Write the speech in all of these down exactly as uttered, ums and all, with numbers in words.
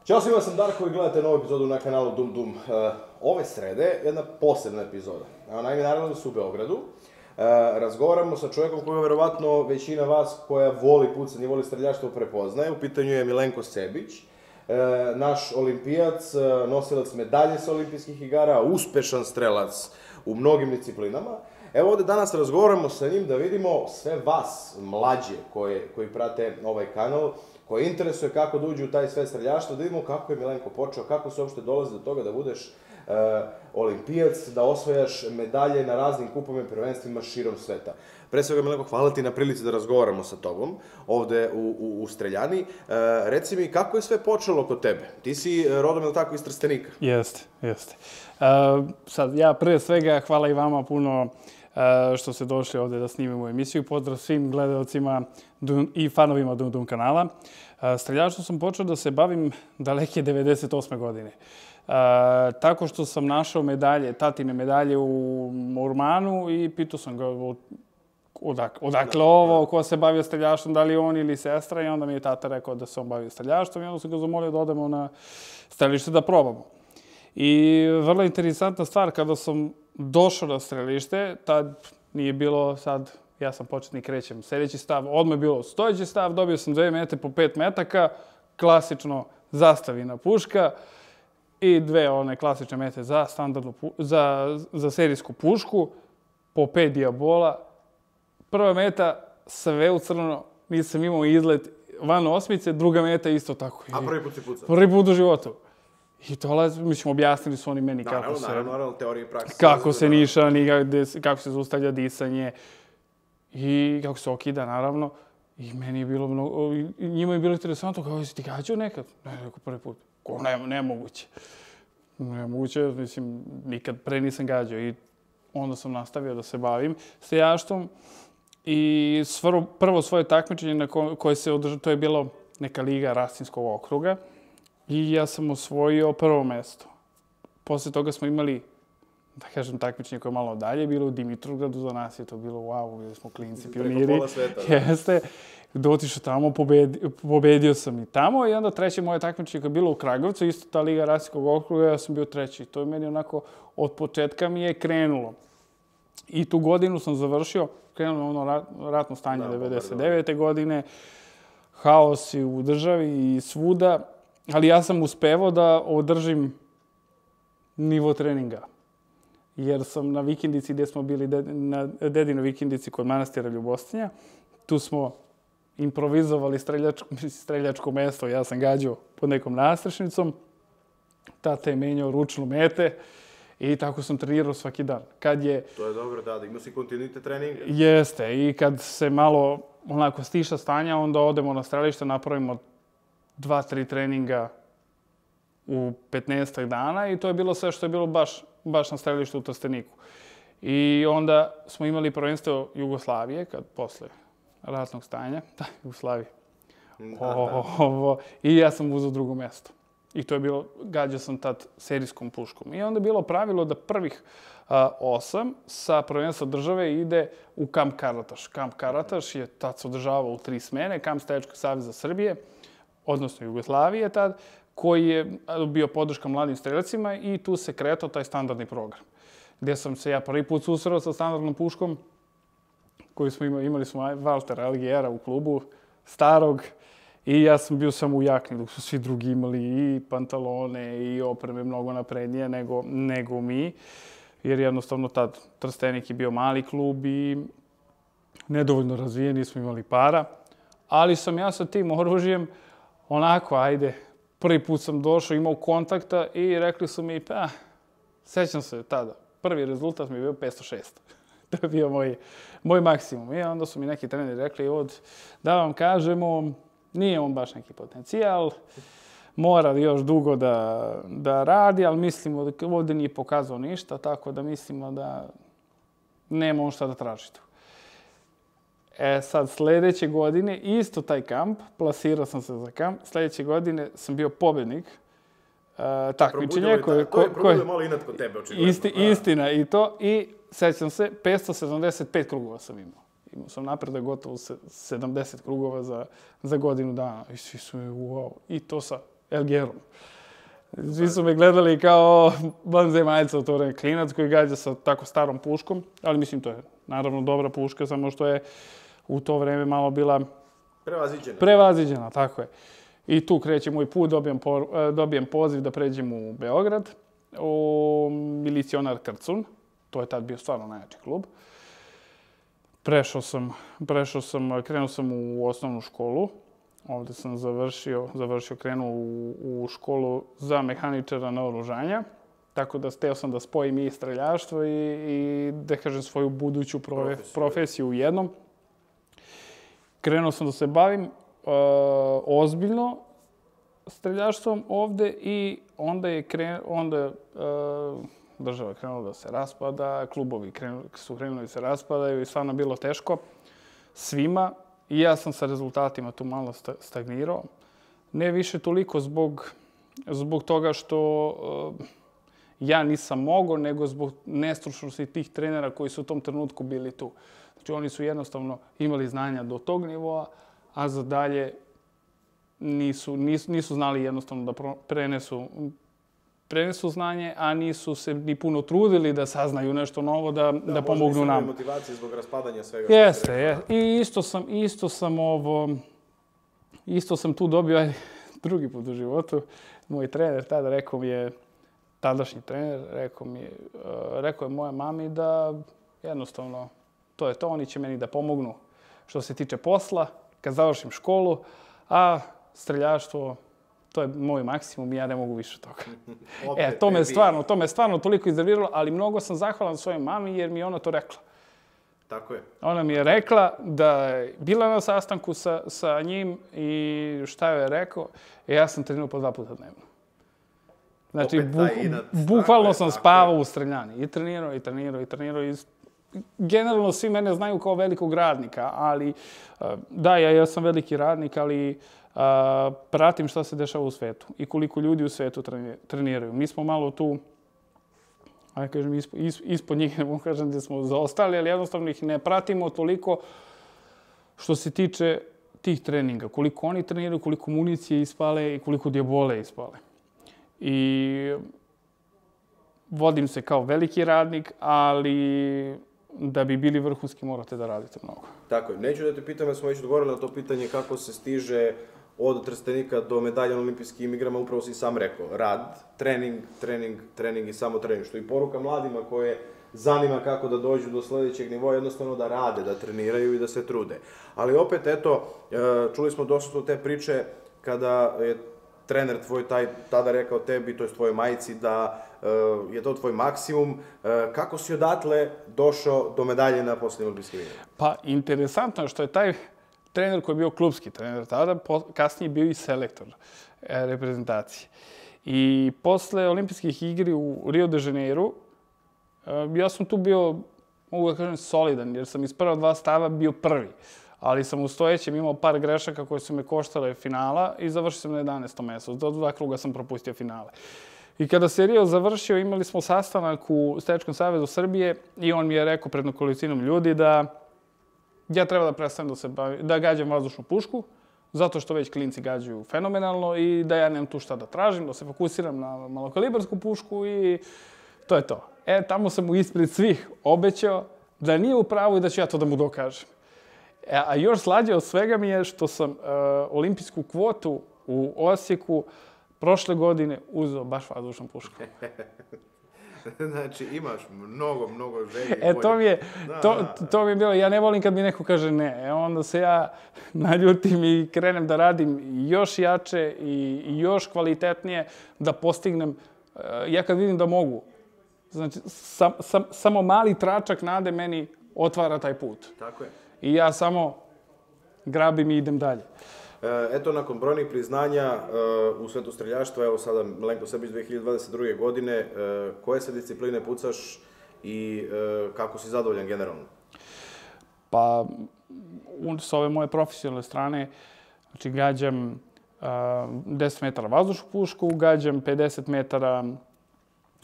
Ćao svima, sam Darko i gledate novu epizodu na kanalu Dum Dum. Ove srede jedna posebna epizoda. Naime, naravno su u Beogradu. Razgovaramo sa čovjekom koga verovatno većina vas koja voli pucanje i voli streljaštvo prepoznaje. U pitanju je Milenko Sebić, naš olimpijac, nosilac medalje sa olimpijskih igara, uspešan strelac u mnogim disciplinama. Evo ovdje danas razgovaramo sa njim da vidimo sve vas, mlađe, koje, koji prate ovaj kanal, koji interesuje kako da uđu u taj sve streljaštvo, da vidimo kako je Milenko počeo, kako se uopšte dolazi do toga da budeš uh, olimpijac, da osvajaš medalje na raznim kupovima i prvenstvima širom sveta. Pre svega, Milenko, hvala ti na prilici da razgovaramo sa tobom ovde u, u, u Streljani. Uh, reci mi, kako je sve počelo kod tebe? Ti si rodom, ili tako, iz Trstenika? Jeste, jeste. Uh, sad, ja pre svega hvala i vama puno uh, što ste došli ovde da snimimo emisiju. Pozdrav svim gledalcima i fanovima Dum Dum kanala. Uh, streljaštvom sam počeo da se bavim daleke devedeset osme godine. Uh, tako što sam našao medalje, tatine medalje u Urmanu i pitao sam ga odak, odakle ovo, ko se bavio streljaštvom, da li on ili sestra, i onda mi je tata rekao da se on bavio streljaštvom i onda sam ga zamolio da odemo na strelište da probamo. I vrlo interesantna stvar, kada sam došao na strelište, tad nije bilo sad, ja sam početnik, krećem sljedeći stav, odmah je bilo stojeći stav, dobio sam dve mete po pet metaka, klasično zastavina puška i dve one klasične mete za standardnu, za, za serijsku pušku, po pet dijabola. Prva meta, sve u crno, nisam imao izlet van osmice, druga meta isto tako. A prvi put si pucao? Prvi put u životu. I dolazi, mislim, objasnili su oni meni naravno, kako se... Naravno, naravno, teorije i prakse. Kako se nišani, kako se zaustavlja disanje i kako se okida, naravno. I meni je bilo mnogo... I njima je bilo interesantno, kao, jesi ti gađao nekad? Ne, neko prvi put. Ko, ne, nemoguće. Nemoguće, mislim, nikad pre nisam gađao. I onda sam nastavio da se bavim streljaštvom. I svaro, prvo svoje takmičenje na ko, koje se održalo, to je bilo neka liga Rasinskog okruga. I ja sam osvojio prvo mesto. Posle toga smo imali, da kažem, takmičenje koje je malo dalje, bilo u Dimitrovgradu, za nas je to bilo wow, bili smo klinci, pioniri. Preko pola sveta, da. Jeste. Dotišao tamo, pobedio, pobedio sam i tamo i onda treće moje takmičenje koje je bilo u Kragovcu, isto ta liga Rasinskog okruga, ja sam bio treći. To je meni onako, od početka mi je krenulo. I tu godinu sam završio, krenulo ono rat, ratno stanje da, devedeset devete. godine, haos i u državi i svuda. Ali ja sam uspevao da održim nivo treninga. Jer sam na vikendici gdje smo bili, na dedinoj vikendici kod manastira Ljubostinja, tu smo improvizovali streljačko, streljačko mesto. Ja sam gađao pod nekom nastrešnicom. Tata je menjao ručnu mete i tako sam trenirao svaki dan. Kad je... To je dobro, da, da imao si kontinuitet treninga. Jeste, i kad se malo onako stiša stanja, onda odemo na strelište, napravimo dva, tri treninga u petnaestak dana i to je bilo sve što je bilo baš, baš na strelištu u Trsteniku. I onda smo imali prvenstvo Jugoslavije, kad posle ratnog stanja, da, Jugoslavije. Ovo, i ja sam uzeo drugo mjesto. I to je bilo, gađao sam tad serijskom puškom. I onda je bilo pravilo da prvih a, osam sa prvenstva države ide u Kamp Karataš. Kamp Karataš je tad se održavao u tri smene, Kamp Streljačkog saveza Srbije, odnosno Jugoslavije tad, koji je bio podrška mladim streljacima i tu se kretao taj standardni program. Gdje sam se ja prvi put susreo sa standardnom puškom, koju smo imali, imali smo Valtera Algijera u klubu, starog, i ja sam bio samo u jakni, dok su svi drugi imali i pantalone i opreme mnogo naprednije nego, nego mi. Jer jednostavno tad Trstenik je bio mali klub i nedovoljno razvijen, nismo imali para. Ali sam ja sa tim oružjem onako, ajde, prvi put sam došao, imao kontakta i rekli su mi, pa, sećam se tada, prvi rezultat mi je bio petsto šest. To je bio moj, moj maksimum. I onda su mi neki treneri rekli, od, da vam kažemo, nije on baš neki potencijal, mora još dugo da, da radi, ali mislimo da ovdje nije pokazao ništa, tako da mislimo da nema on šta da traži tu. E sad, sljedeće godine, isto taj kamp, plasirao sam se za kamp, sljedeće godine sam bio pobjednik uh, takmičenja. To je probudilo malo inat kod tebe, očigledno. Isti, istina i to, i sećam se, petsto sedamdeset pet krugova sam imao. Imao sam napredak gotovo sedamdeset krugova za, za godinu dana. I svi su mi, wow. I to sa Elgerom. Svi su me gledali kao vanzemaljca u to vreme, klinac koji gađa sa tako starom puškom, ali mislim to je naravno dobra puška, samo što je u to vreme malo bila Prevaziđena. Prevaziđena, tako je. I tu kreće moj put, dobijem, po, dobijem poziv da pređem u Beograd, u Milicionar Krcun. To je tad bio stvarno najjači klub. Prešao sam, prešao sam, krenuo sam u osnovnu školu. Ovdje sam završio, završio krenuo u, u školu za mehaničara naoružanja. Tako da steo sam da spojim i streljaštvo i, i da kažem svoju buduću profe, profesiju. profesiju u jednom. Krenuo sam da se bavim uh, ozbiljno streljaštvom ovde i onda je kren, onda uh, država krenula da se raspada, klubovi krenu, su krenuli da se raspadaju i stvarno bilo teško svima. I ja sam sa rezultatima tu malo stagnirao. Ne više toliko zbog, zbog toga što uh, ja nisam mogao, nego zbog nestručnosti tih trenera koji su u tom trenutku bili tu. Znači oni su jednostavno imali znanja do tog nivoa, a za dalje nisu, nisu, nisu znali jednostavno da prenesu, prenesu znanje, a nisu se ni puno trudili da saznaju nešto novo, da, da, da pomognu nam. Da, motivacije zbog raspadanja svega. Jeste, je. I isto sam, isto sam ovo, isto sam tu dobio, ajde, drugi put u životu. Moj trener tada rekao mi je, tadašnji trener, rekao mi je, uh, rekao je moja mami da jednostavno to je to, oni će meni da pomognu što se tiče posla, kad završim školu, a streljaštvo, to je moj maksimum i ja ne mogu više toga. E, to me stvarno, to me stvarno toliko iznerviralo, ali mnogo sam zahvalan svojoj mami jer mi je ona to rekla. Tako je. Ona mi je rekla da je bila na sastanku sa, sa njim i šta joj je rekao, e, ja sam trenirao po dva puta dnevno. Znači, buk, bukvalno sam spavao u streljani. I trenirao, i trenirao, i trenirao. I generalno svi mene znaju kao velikog radnika, ali da, ja, ja sam veliki radnik, ali a, pratim šta se dešava u svetu i koliko ljudi u svetu treniraju. Mi smo malo tu, ajde kažem, ispod, ispod njih, ne mogu kažem da smo zaostali, ali jednostavno ih ne pratimo toliko što se tiče tih treninga. Koliko oni treniraju, koliko municije ispale i koliko dijabole ispale. I vodim se kao veliki radnik, ali da bi bili vrhunski morate da radite mnogo. Tako je. Neću da te pitam, jer smo već odgovorili na to pitanje kako se stiže od Trstenika do medalja na olimpijskim igrama, upravo si sam rekao. Rad, trening, trening, trening i samo trening. Što i poruka mladima koje zanima kako da dođu do sljedećeg nivoa, jednostavno da rade, da treniraju i da se trude. Ali opet, eto, čuli smo dosta te priče kada je trener tvoj taj tada rekao tebi, to je tvojoj majici, da uh, je to tvoj maksimum. Uh, kako si odatle došao do medalje na posljednjim olimpijskim igrama? Pa, interesantno je što je taj trener koji je bio klubski trener tada, kasnije bio i selektor e, reprezentacije. I posle olimpijskih igri u Rio de Janeiru, e, ja sam tu bio, mogu da kažem, solidan, jer sam iz prva dva stava bio prvi. Ali sam u stojećem imao par grešaka koje su me koštale finala i završio sam na jedanaestom mjestu. Do dva kruga sam propustio finale. I kada se Rio završio, imali smo sastanak u Streljačkom savezu Srbije i on mi je rekao pred nekolicinom ljudi da ja treba da prestanem da se bavim, da gađam vazdušnu pušku, zato što već klinci gađaju fenomenalno i da ja nemam tu šta da tražim, da se fokusiram na malokalibarsku pušku i to je to. E, tamo sam mu ispred svih obećao da nije u pravu i da ću ja to da mu dokažem. A još slađe od svega mi je što sam uh, olimpijsku kvotu u Osijeku prošle godine uzeo baš vazdušnom puškom. Znači, imaš mnogo, mnogo želje. E, to mi je, to, to mi je bilo, ja ne volim kad mi neko kaže ne. E, onda se ja naljutim i krenem da radim još jače i, i još kvalitetnije da postignem. Uh, ja kad vidim da mogu, znači, sam, sam, samo mali tračak nade meni otvara taj put. Tako je. I ja samo grabim i idem dalje. Eto, nakon brojnih priznanja u svetu streljaštva, evo sada Milenko Srbić dve hiljade dvadeset druge. godine, koje se discipline pucaš i kako si zadovoljan generalno? Pa, s ove moje profesionalne strane, znači gađam deset metara vazdušnu pušku, gađam pedeset metara,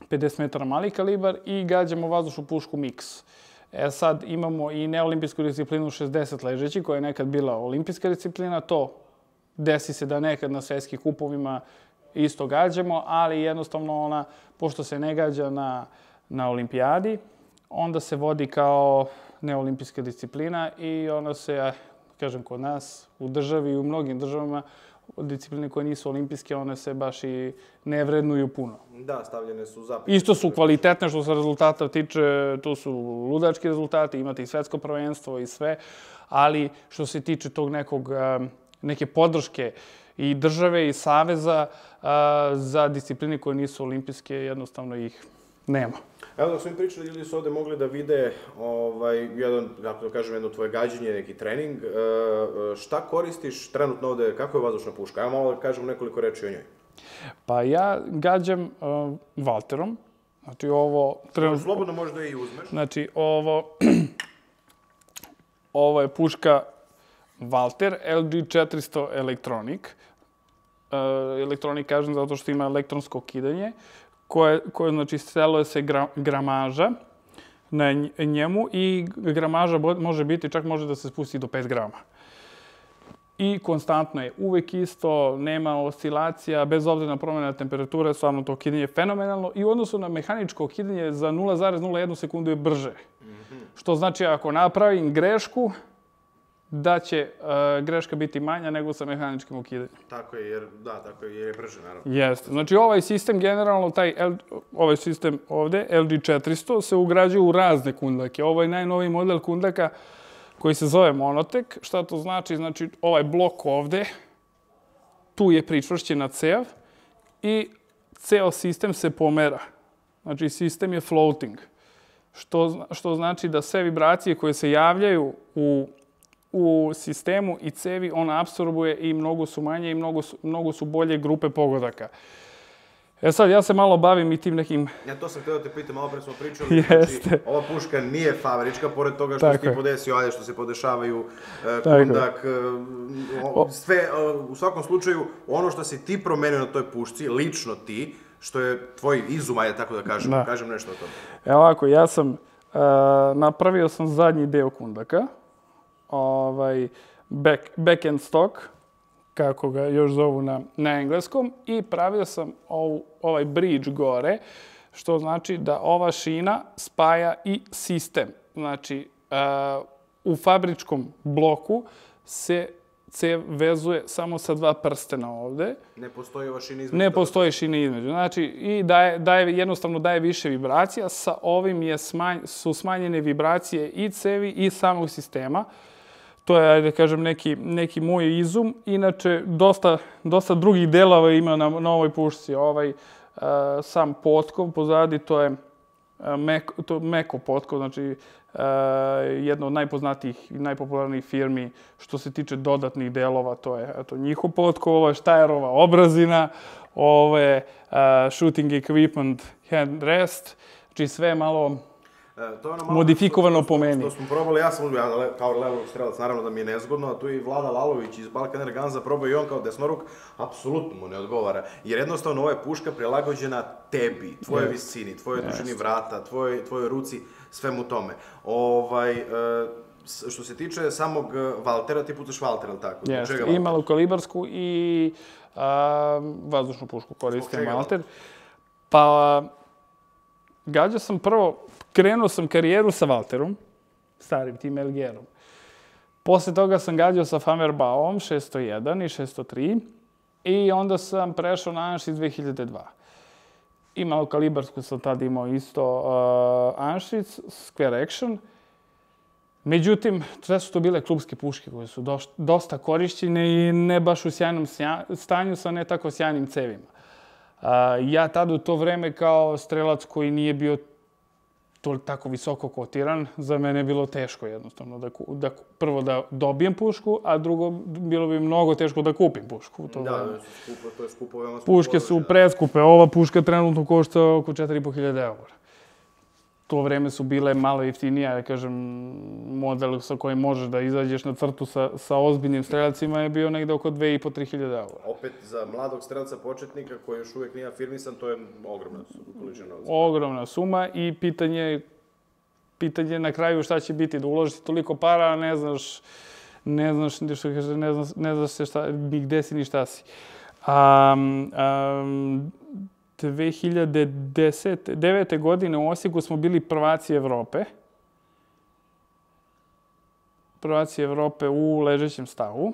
pedeset metara mali kalibar i gađamo vazdušnu pušku miks. E sad imamo i neolimpijsku disciplinu šezdeset ležeći, koja je nekad bila olimpijska disciplina. To desi se da nekad na svjetskim kupovima isto gađamo, ali jednostavno ona, pošto se ne gađa na, na olimpijadi, onda se vodi kao neolimpijska disciplina i ona se, kažem, kod nas, u državi i u mnogim državama, discipline koje nisu olimpijske, one se baš i ne vrednuju puno. Da, stavljene su za... Isto su kvalitetne što se rezultata tiče, to su ludački rezultati, imate i svetsko prvenstvo i sve, ali što se tiče tog nekog, neke podrške i države i saveza za discipline koje nisu olimpijske, jednostavno ih nema. Evo dok smo im pričali, ljudi su ovde mogli da vide ovaj, jedan, kako da kažem, jedno tvoje gađenje, neki trening. E, šta koristiš trenutno ovde, kako je vazdušna puška? Evo malo da kažem nekoliko reči o njoj. Pa ja gađam uh, Valterom. Znači ovo... Trenut... Slobodno možda i uzmeš. Znači ovo... ovo je puška Valter L G četiristo Electronic. Uh, Electronic kažem zato što ima elektronsko kidanje, koje, koje znači, steluje se gra, gramaža na njemu i gramaža može biti, čak može da se spusti do pet grama. I konstantno je uvek isto, nema oscilacija, bez obzira na promjene temperature, stvarno to kidanje je fenomenalno i u odnosu na mehaničko kidanje za nula zarez nula jedna sekundu je brže. Mm-hmm. Što znači ako napravim grešku, da će uh, greška biti manja nego sa mehaničkim ukidanjem. Tako je, jer, da, tako je, jer je brže, naravno. Jeste. Znači ovaj sistem generalno, taj L, ovaj sistem ovde, L G četiristo, se ugrađuje u razne kundake. Ovo je najnoviji model kundaka koji se zove Monotek. Šta to znači? Znači ovaj blok ovde, tu je pričvršćena cev i ceo sistem se pomera. Znači sistem je floating. Što, što znači da sve vibracije koje se javljaju u u sistemu i cevi on apsorbuje i mnogo su manje i mnogo su, mnogo su bolje grupe pogodaka. E sad, ja se malo bavim i tim nekim... Ja to sam htio da te pitam, malo pre smo pričali, znači, ova puška nije fabrička, pored toga što si ti podesio, ajde što se podešavaju, uh, kundak, uh, sve, uh, u svakom slučaju, ono što si ti promenio na toj pušci, lično ti, što je tvoj izum, ajde tako da kažem, da. kažem nešto o tome. Evo ovako, ja sam, uh, napravio sam zadnji deo kundaka, ovaj, back, back-end stock, kako ga još zovu na, na engleskom, i pravio sam ov, ovaj bridge gore, što znači da ova šina spaja i sistem. Znači, uh, u fabričkom bloku se cev vezuje samo sa dva prstena ovde. Ne postoji ova šina između? Ne postoji šina između. Znači, i daje, daje, jednostavno daje više vibracija. Sa ovim je smanj, su smanjene vibracije i cevi i samog sistema. To je, ajde kažem, neki, neki moj izum. Inače, dosta, dosta drugih delova ima na, na ovoj pušci. Ovaj, uh, sam potkov pozadi, to je uh, mek, to meko potkov, znači uh, jedna od najpoznatijih i najpopularnijih firmi što se tiče dodatnih delova. To je eto, njihov potkov, ovo je Štajerova obrazina, ovo je uh, shooting equipment hand rest, znači sve malo... E, to je ono modifikovano po meni. To smo probali, ja sam ja, kao levog strelac, naravno da mi je nezgodno, a tu je i Vlada Lalović iz Balkan Air Gunsa probao i on kao desnoruk, apsolutno mu ne odgovara. Jer jednostavno ova je puška prilagođena tebi, tvojoj yes. visini, tvojoj yes. dužini vrata, tvojoj, tvojoj ruci, svemu tome. Ovaj, e, što se tiče samog Valtera, ti pucaš Valter, ali tako? Jeste, i malokalibarsku i a, vazdušnu pušku koristim Valter. Pa, gađao sam prvo, krenuo sam karijeru sa Valterom, starim tim L G-om. Posle toga sam gađao sa Famerbauom šesto jedan i šesto tri i onda sam prešao na Anšic dve hiljade dva. I malokalibarsku sam tad imao isto uh, Anšic, Square Action. Međutim, sve su to bile klubske puške koje su doš, dosta korišćene i ne baš u sjajnom stanju sa ne tako sjajnim cevima. Uh, ja tad u to vreme kao strelac koji nije bio to tako visoko kotiran, za mene je bilo teško jednostavno da, da prvo da dobijem pušku, a drugo bilo bi mnogo teško da kupim pušku. To da, da su skupo, to je skupo, veoma skupo. Puške su preskupe, ova puška trenutno košta oko četiri i po hiljade eura. To vreme su bile malo jeftinije, ja kažem, model sa kojim možeš da izađeš na crtu sa, sa ozbiljnim streljacima je bio negde oko dve i po tri hiljade eura. Opet, za mladog strelca početnika koji još uvijek nije afirmisan, to je ogromna količina novca. Ogromna suma i pitanje, pitanje na kraju šta će biti, da uložiš toliko para, a ne znaš, ne znaš, što kaže, ne znaš, ne znaš se šta, ni gde si, ni šta si. Um, um, dve hiljade devete. godine u Osijeku smo bili prvaci Evrope. Prvaci Evrope u ležećem stavu.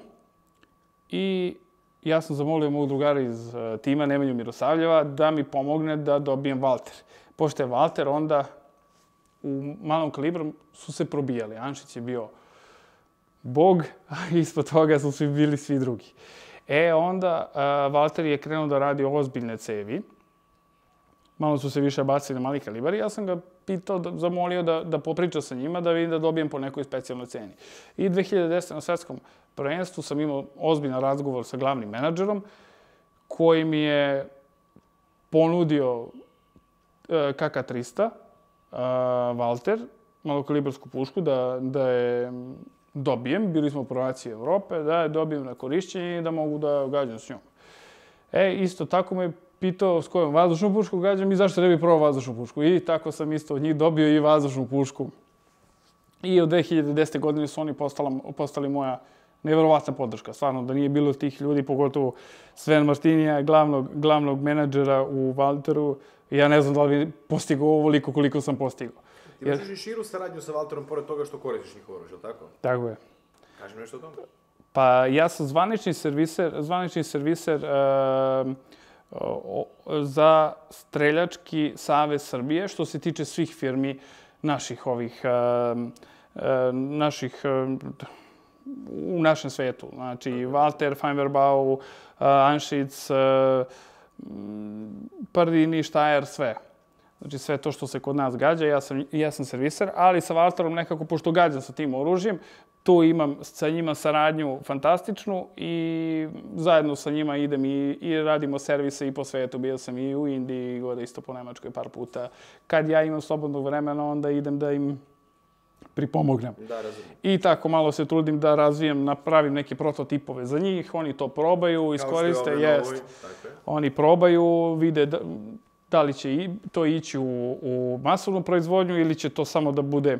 I ja sam zamolio mog drugara iz tima, Nemanju Mirosavljeva, da mi pomogne da dobijem Valter. Pošto je Valter, onda u malom kalibru su se probijali. Anšić je bio bog, a ispod toga su svi bili svi drugi. E, onda Valter je krenuo da radi ozbiljne cevi. Malo su se više bacili na mali kalibar i ja sam ga pitao, zamolio da, da popriča sa njima, da vidim da dobijem po nekoj specijalnoj ceni. I dve hiljade desete. na svetskom prvenstvu sam imao ozbiljan razgovor sa glavnim menadžerom koji mi je ponudio K K trista, Valter, malokalibarsku pušku, da, da je dobijem. Bili smo prvaci Evrope, da je dobijem na korišćenje i da mogu da gađam s njom. E, isto tako me pitao s kojom vazdušnu pušku gađam i zašto ne bi probao vazdušnu pušku. I tako sam isto od njih dobio i vazdušnu pušku. I od dve hiljade desete. godine su oni postala, postali moja neverovatna podrška. Stvarno, da nije bilo tih ljudi, pogotovo Sven Martinija, glavnog, glavnog menadžera u Valteru, ja ne znam da li bi postigao ovoliko koliko sam postigao. Ti možeš i širu saradnju sa Valterom pored toga što koristiš njih oružje, ili tako? Tako je. Kaži mi nešto o tome. Pa ja sam zvanični serviser, zvanični serviser uh, uh, za Streljački savez Srbije, što se tiče svih firmi naših ovih, uh, uh, naših, uh, u našem svetu. Znači, Valter, Feinverbau, uh, Anšic, uh, Pardini, Štajer, sve. Znači, sve to što se kod nas gađa, ja sam, ja sam serviser, ali sa Valterom nekako, pošto gađam sa tim oružjem, tu imam sa njima saradnju fantastičnu i zajedno sa njima idem i, i radimo servise i po svetu. Bio sam i u Indiji, gore isto po Nemačkoj par puta. Kad ja imam slobodnog vremena, onda idem da im pripomognem. Da, razumijem. I tako malo se trudim da razvijem, napravim neke prototipove za njih, oni to probaju, iskoriste, jest. Oni probaju, vide da, da li će to ići u, u masovnu proizvodnju ili će to samo da bude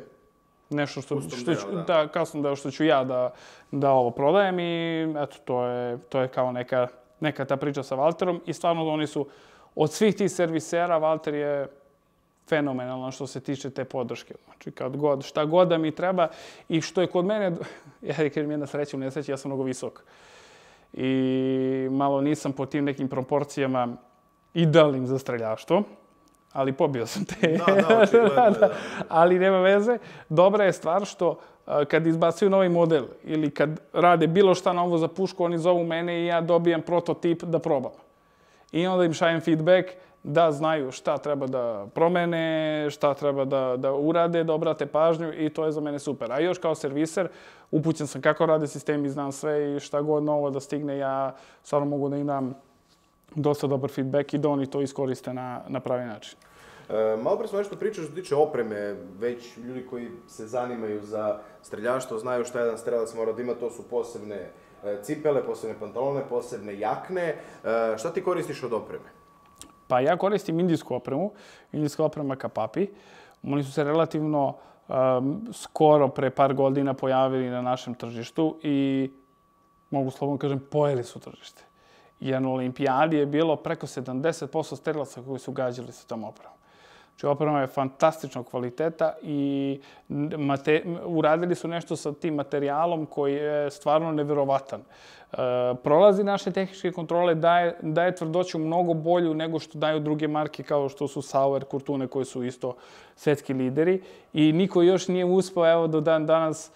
nešto što, što ću, da. da, kasno deo što ću ja da, da ovo prodajem i eto, to je, to je kao neka, neka ta priča sa Valterom i stvarno oni su, od svih tih servisera, Valter je fenomenalan što se tiče te podrške. Znači, kad god, šta god da mi treba i što je kod mene, ja kažem jedna sreća u nesreći, ja sam mnogo visok. I malo nisam po tim nekim proporcijama idealnim za streljaštvo, ali pobio sam te. Da, da, očigledno, da, da. Ali nema veze. Dobra je stvar što kad izbacuju novi model ili kad rade bilo šta novo za pušku, oni zovu mene i ja dobijam prototip da probam. I onda im šaljem feedback da znaju šta treba da promene, šta treba da, da urade, da obrate pažnju i to je za mene super. A još kao serviser, upućen sam kako rade sistemi, znam sve i šta god novo da stigne, ja stvarno mogu da im dam dosta dobar feedback i da oni to iskoriste na, na pravi način. E, malo pre smo nešto pričao što tiče opreme, već ljudi koji se zanimaju za streljaštvo znaju šta jedan strelac mora da ima, to su posebne cipele, posebne pantalone, posebne jakne. E, šta ti koristiš od opreme? Pa ja koristim indijsku opremu, indijska oprema Kapapi. Oni su se relativno um, skoro, pre par godina, pojavili na našem tržištu i, mogu slobodno kažem, pojeli su tržište. Jer na olimpijadi je bilo preko sedamdeset posto strelaca koji su gađali sa tom opremom. Znači, oprema je fantastičnog kvaliteta i mate, uradili su nešto sa tim materijalom koji je stvarno neverovatan. E, prolazi naše tehničke kontrole, daje, daje tvrdoću mnogo bolju nego što daju druge marke kao što su Sauer, Kurtune koji su isto svetski lideri. I niko još nije uspeo, evo do dan danas,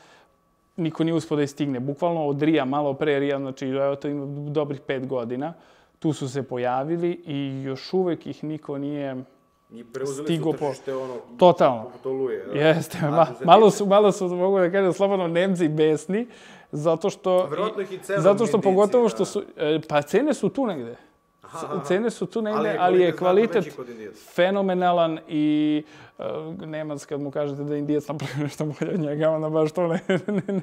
niko nije uspeo da je stigne. Bukvalno od Rija, malo pre Rija, znači evo to ima dobrih pet godina, tu su se pojavili i još uvek ih niko nije I preuzeli su tržište ono... Totalno. Potoluje, da? Jeste. Ma, malo su, malo su, mogu da kažem, slobodno Nemci besni, zato što... Verovatno ih i cenom zato što indici, pogotovo da. što su... Pa cene su tu negde. Aha, aha. Cene su tu negde, ali, ali je kvalitet kvalitet fenomenalan i uh, Nemac kad mu kažete da je Indijac napravio nešto bolje od njega, onda baš to ne... ne, ne.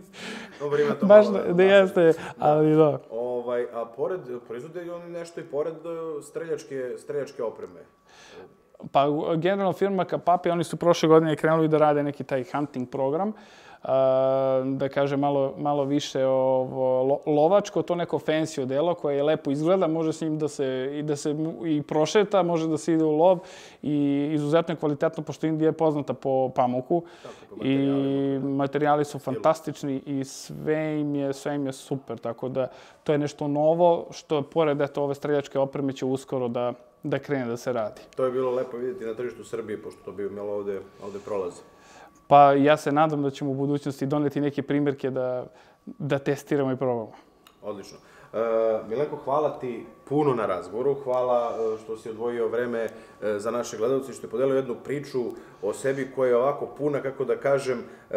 Dobro, ima to baš malo. da jeste, ali da. Ovaj, a pored, proizvode oni nešto i pored streljačke, streljačke opreme? Pa generalno firma Kapapi, oni su prošle godine krenuli da rade neki taj hunting program. da kažem, malo, malo više ovo, lo, lovačko, to neko fancy odelo koje lepo izgleda, može s njim da se, i, da se i prošeta, može da se ide u lov i izuzetno je kvalitetno, pošto Indija je poznata po pamuku. Tako, po i materijali su fantastični i sve im je, sve im je super, tako da to je nešto novo što pored eto, ove streljačke opreme će uskoro da, da krene da se radi. To je bilo lepo vidjeti na tržištu Srbije, pošto to bi imalo ovde, ovde prolaze. Pa ja se nadam da ćemo u budućnosti doneti neke primjerke da, da testiramo i probamo. Odlično. Uh, Milenko, hvala ti puno na razgovoru, hvala uh, što si odvojio vreme uh, za naše gledalce i što je podelio jednu priču o sebi koja je ovako puna, kako da kažem, uh,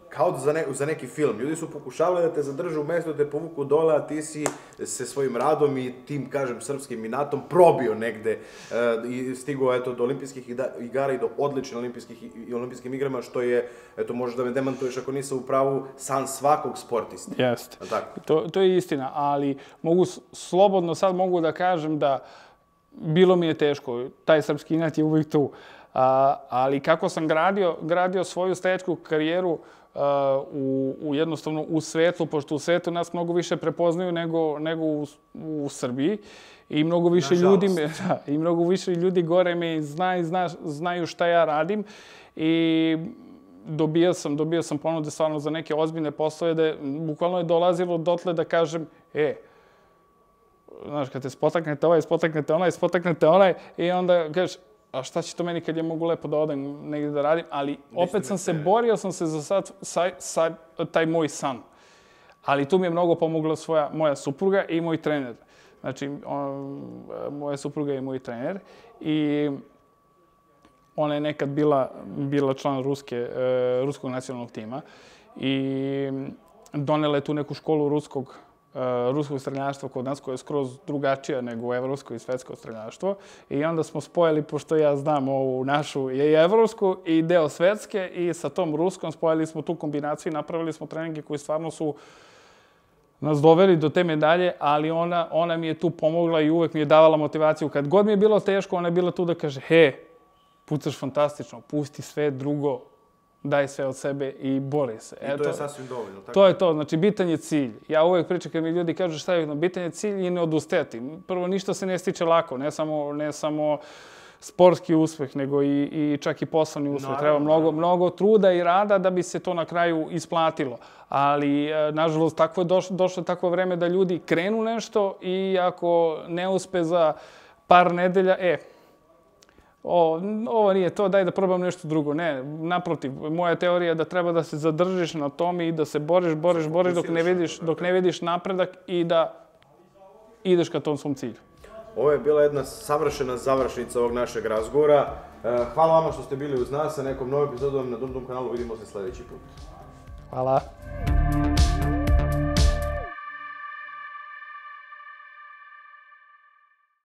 kao za, ne, za neki film. Ljudi su pokušavali da te zadrže u mestu, da te povuku dole, a ti si se svojim radom i tim, kažem, srpskim inatom probio negde uh, i stigao eto, do olimpijskih igara i do odličnih olimpijskih i olimpijskim igrama, što je, eto, možeš da me demantuješ ako nisam u pravu, san svakog sportiste. Jeste. To, to je istina, ali mogu slobodno sad mogu da kažem da bilo mi je teško. Taj srpski inat je uvijek tu. A, ali kako sam gradio, gradio svoju streljačku karijeru Uh, u, u jednostavno u svetu, pošto u svetu nas mnogo više prepoznaju nego, nego u, u Srbiji i mnogo više ljudi me, da, i mnogo više ljudi gore me zna i zna, znaju šta ja radim i dobio sam, dobio sam ponude stvarno za neke ozbiljne poslove da je, bukvalno je dolazilo dotle da kažem, e, znaš, kad te spotaknete ovaj, spotaknete onaj, spotaknete onaj i onda kažeš, a šta će to meni kad ja mogu lepo da odem negdje da radim, ali opet sam se, borio sam se za sad, sa, sa, taj moj san. Ali tu mi je mnogo pomogla svoja, moja supruga i moj trener. Znači, on, moja supruga je moj trener i ona je nekad bila, bila član ruske, uh, ruskog nacionalnog tima i donela je tu neku školu ruskog Uh, ruskog streljaštva kod nas, koja je skroz drugačija nego evropsko i svetsko streljaštvo. I onda smo spojili, pošto ja znam ovu našu i evropsku i deo svetske, i sa tom ruskom spojili smo tu kombinaciju i napravili smo treninge koji stvarno su nas doveli do te medalje, ali ona, ona mi je tu pomogla i uvek mi je davala motivaciju. Kad god mi je bilo teško, ona je bila tu da kaže, he, pucaš fantastično, pusti sve drugo, daj sve od sebe i bori se. I to Eto, je sasvim dovoljno. Tako? To je to, znači bitan je cilj. Ja uvek pričam kad mi ljudi kažu šta je bitan je cilj i ne odustajati. Prvo, ništa se ne stiče lako, ne samo, ne samo sportski uspeh, nego i, i čak i poslovni uspeh. No, Treba mnogo, mnogo truda i rada da bi se to na kraju isplatilo. Ali, nažalost, tako je došlo, došlo takvo vreme da ljudi krenu nešto i ako ne uspe za par nedelja, e, O, ovo nije to, daj da probam nešto drugo. Ne, naprotiv, moja teorija je da treba da se zadržiš na tome i da se boriš, boriš, boriš dok ne vidiš, dok ne vidiš napredak i da ideš ka tom svom cilju. Ovo je bila jedna savršena završnica ovog našeg razgovora. Hvala vama što ste bili uz nas, sa nekom novom epizodom na Dum Dum kanalu. Vidimo se sljedeći put. Hvala.